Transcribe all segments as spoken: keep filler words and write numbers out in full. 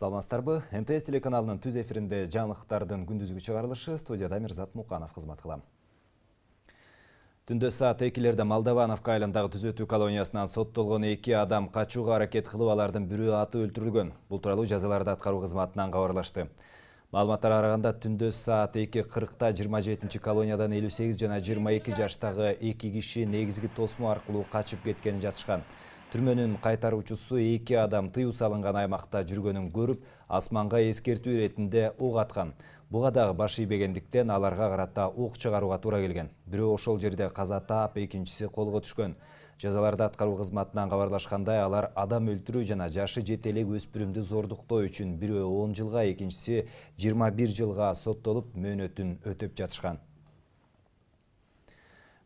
Саламатсыздарбы? эн тэ эс телеканалынын түз эфиринде жаңылыктардын күндүзгү чыгарылышы, студияда Мирзат Муканов кызмат кылам. Түндө саат экилерде Молдовановка айылындагы түзөтүү колониясынан соттолгон эки адам качууга аракет кылып, алардын бирөө атып өлтүрүлгөн. Бул тууралуу жазаларды аткаруу кызматынан кабарлашты. Маалыматтар араганда түндө саат эки кыркта жыйырма жетинчи колониядан элүү сегиз жана жыйырма эки жаштагы эки киши негизги тосмо аркылуу качып кеткени жатышкан. Түрмөнүн кайтаруучусу эки адам тыюу салынган аймакта жүргөнүн көрүп, асманга эскертүү иретинде ок аткан. Буга дагы баш ийбегендиктен аларга карата ок чыгарууга туура келген. Бирөө ошол жерде каза таап, экинчиси колго түшкөн. Жазаларды аткаруу кызматынан кабарлашкандай, алар адам өлтүрүү жана жашы жете элек өспүрүмдү зордуктоо үчүн бирөө он жылга, экинчиси жыйырма бир жылга соттолуп, мөөнөтүн өтөп жатышкан.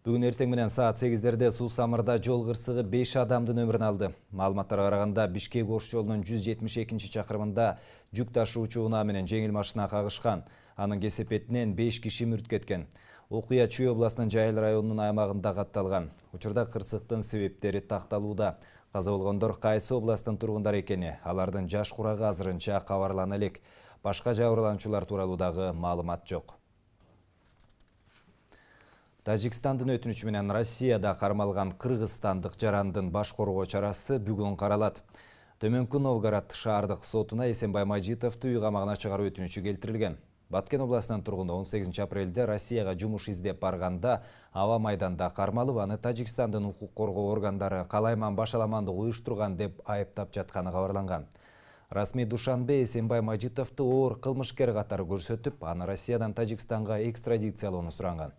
Бүгүн эртең менен саат сегиздерде Суу Самырда жол кырсыгы беш адамдын өмүрүн алды. Маалыматтарга караганда Бишкек Ош жолунун жүз жетимиш экинчи чакырымында жүк ташуучу унаа менен жеңил машина кагышкан. Анын кесепетинен беш киши мүрт кеткен. Окуя Чүй областынын Жайыл районунун аймагында катталган. Учурда кырсыктын себептери такталууда. Каза болгондор кайсы областтын тургундары экени, алардын жаш курагы азырынча кабарлана элек. Башка жабырлануучулар тууралуу дагы маалымат жок. Тажикстандын өтүнүчү менен Россияда кармалган кыргызстандык жарандын баш коргоо чарасы бүгүн каралат. Төмөнкү Новгород шаардык сотуна Эсенбай Мажитовду үй камагына чыгаруу өтүнүчү келтирилген. Баткен областынын тургуну он сегизинчи апрелде Россияга жумуш издеп барганда аба майданда кармалып, аны Тажикстандын укук коргоо органдары калайман башаламандык уюштурган деп айыптап жатканы кабарланган. Расмий Душанбе Эсенбай Мажитовду оор кылмышкер катары көрсөтүп, аны Россиядан Тажикстанга экстрадициялоону суранган.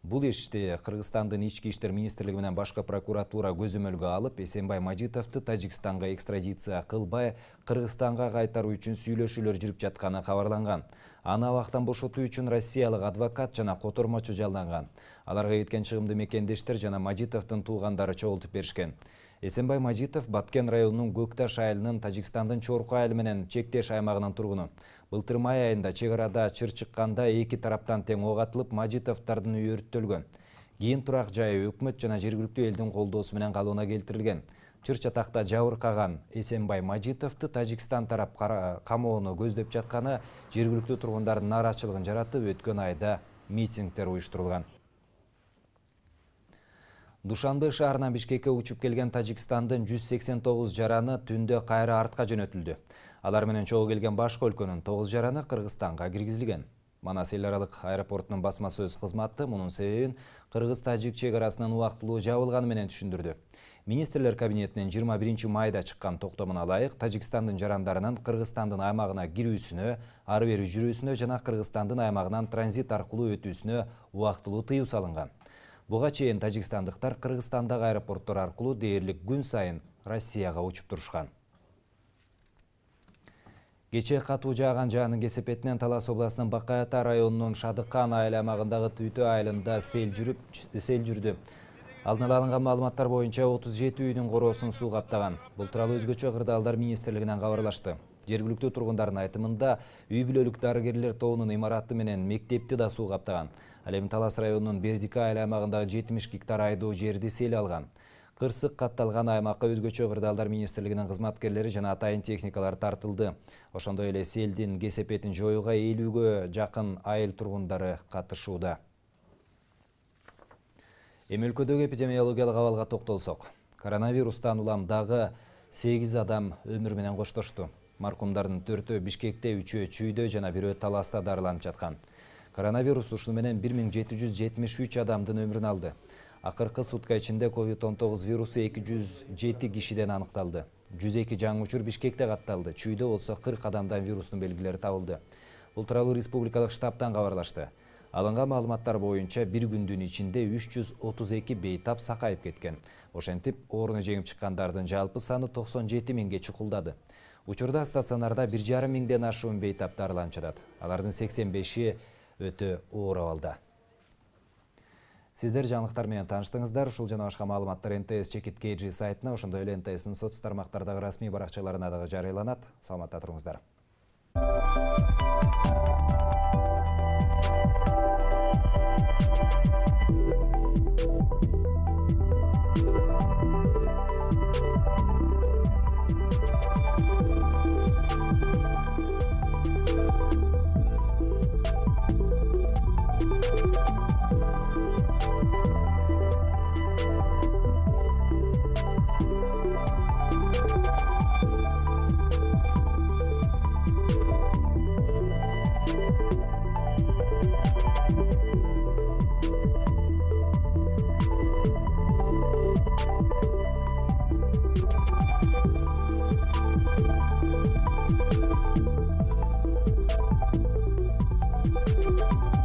Бул ишти Кыргызстандын ички иштер министрлиги менен башка прокуратура көзөмөлгө алып, Эсенбай Мажитовду Тажикстанга экстрадиция кылбай, Кыргызстанга кайтаруу үчүн сүйлөшүүлөр жүрүп жатканы кабарланган. Аны абактан бошотуу үчүн россиялык адвокат жана котормочу жалданган. Аларга кеткен чыгымды мекендештер жана Мажитовдун туугандары чогултуп беришкен. Эсенбай Мажитов Баткен районунун Көкташ айылынын Тажикстандын Чорку айылы менен чектеш аймагынын тургуну. Былтыр май айында чек арада чыр чыкканда эки тараптан тең ок атылып, Мажитовдордун үйү өрттөлгөн. Кийин турак жайы өкмөт жана жергиликтүү элдин колдоосу менен калыбына келтирилген. Чыр чатакта жабыркаган Эсенбай Мажитовду Тажикстан тарап камоону көздөп жатканы жергиликтүү тургундардын нааразычылыгын жаратып, өткөн айда митингдер уюштурулган. Душанбе шаарынан Бишкекке учуп келген Тажикстандын жүз сексен тогуз жараны түндө кайра артка жөнөтүлдү. Алар менен чогуу келген башка өлкөнүн тогуз жараны Кыргызстанга киргизилген. Манас эл аралык аэропортунун басма сөз кызматы мунун себебин Кыргыз-Тажик чек арасынын убактылуу жабылганы менен түшүндүрдү. Министрлер кабинетинин жыйырма биринчи майда чыккан токтомуна ылайык, Тажикстандын жарандарынын Кыргызстандын аймагына кирүүсүнө, ары бери жүрүүсүнө жана Кыргызстандын аймагынан транзит аркылуу өтүүсүнө убактылуу тыюу салынган. Буга чейин тажикстандыктар Кыргызстандагы аэропорттор аркылуу дээрлик күн сайын Россияга учуп турушкан. Кечээ катуу жааган жаанын кесепетинен Талас областынын Бакаята районунун Шадыкан айыл аймагындагы Түйтө айылында сел жүрүп сел жүрдү. Алдын ала алынган маалыматтар боюнча отуз жети үйдүн короосун суу каптаган. Бул тууралуу өзгөчө кырдаалдар министрлигинен кабарлашты. Жергиликтүү тургундардын айтымында үй бүлөлүк дарыгерлер тобунун имараты менен мектепти да суу каптаган. Ал эми Талас районунун Бердика айыл аймагындагы жетимиш гектар айдоо жерди сел алган. Кырсык катталган аймакка өзгөчө кырдаалдар министрлигинин кызматкерлери жана атайын техникалар тартылды. Ошондой эле селдин кесепетин жоюуга элүүгө жакын айыл тургундары катышууда. Эми өлкөдөгү эпидемиологиялык абалга токтолсок. Коронавирустан улам дагы сегиз адам өмүрү менен коштошту. Маркумдардын төртөө Бишкекте, үчөө Чүйдө жана бирөө Таласта дарыланып жаткан. Коронавирус ушуну менен бир миң жети жүз жетимиш үч адамдын өмүрүн алды. Акыркы сутка ичинде ковид он тогуз вирусу эки жүз жети кишиден аныкталды. жүз эки жаңы учур Бишкекте катталды. Чүйдө болсо кырк адамдан вирустун белгилери табылды. Бул тууралуу республикалык штабтан кабарлашты. Алынган маалыматтар боюнча бир күндүн ичинде үч жүз отуз эки бейтап сакайып кеткен. Ошентип, ооруну жеңип чыккандардын жалпы саны токсон жети миңге чукулдады. Учурда стационарда бир жарым миңден ашуун бейтап дарыланып жатат. Алардын сексен беши өтө оор абалда. Сиздер жаңылыктар менен тааныштыңыздар. Ушул жана башка маалыматтар эн тэ эс чекит кей джи сайтына, ошондой эле эн тэ эстин соц тармактардагы расмий баракчаларына дагы жарыяланат. Саламатта туруңуздар. We'll be right back.